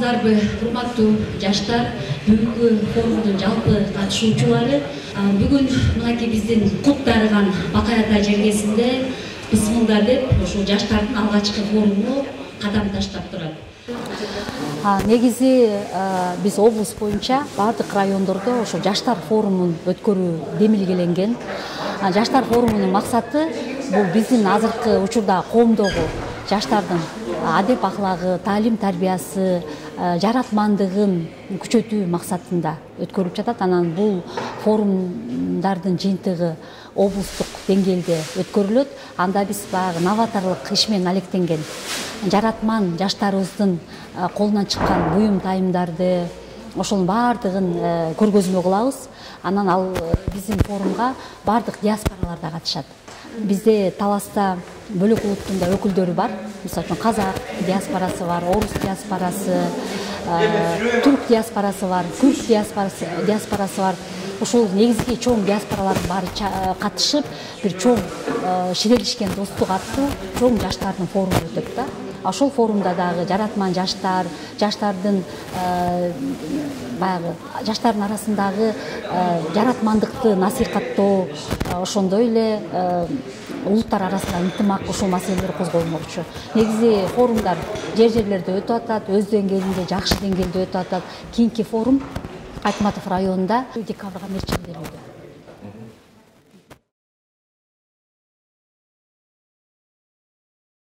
Армысыздарбы, урматтуу жаштар, бүгүнкү форумдун жалпы катышуучулары. Бүгүн мынакей биздин кут дарыган Бакай Ата жергесинде бисмилда деп ушул жаштардын алгачкы форуму кадам таштап турат. Негизи биз облус боюнча бардык райондордо ошо жаштар форумун өткөрүү демилгеленген. Жаштар форумунун максаты бул биздин азыркы учурда коомдогу жаштардын адеп ахлагы, таалим тарбиясы, жаратмандыгын күчөтүү максатында өткөрүлүп жатат. Анан бул форумдардын жыйынтыгы облустук деңгээлде өткөрүлөт. Анда биз баягы новаторлук иш менен алектенген жаратман жаштарыбыздын колунан чыккан буюм тайымдарды ошонун баардыгын көргөзмө кылабыз. Анан ал биздин форумга бардык диаспоралар да катышат. Бизде Таласта бөлөк улуттун да өкүлдөрү бар. Мисалы үчүн казак диаспорасы бар, орус диаспорасы, турк диаспорасы бар, күрд диаспорасы бар. Ушул негизги чоң диаспоралардын баары катышып, бир чоң ширелишкен достук аттуу чоң жаштардын форуму өтөт да. Ошол форумда дагы жаратман жаштар, жаштардын баягы жаштардын арасындагы жаратмандыкты насихаттоо, ошондой эле улуттар арасында ынтымак ушул маселелер козголмокчу. Негизи форумдар жерлерде өтүп атат, өз деңгээлинде, жакшы деңгээлде өтүп атат. Кийинки форум Айтматов районунда декабрга мерчилделүүдө.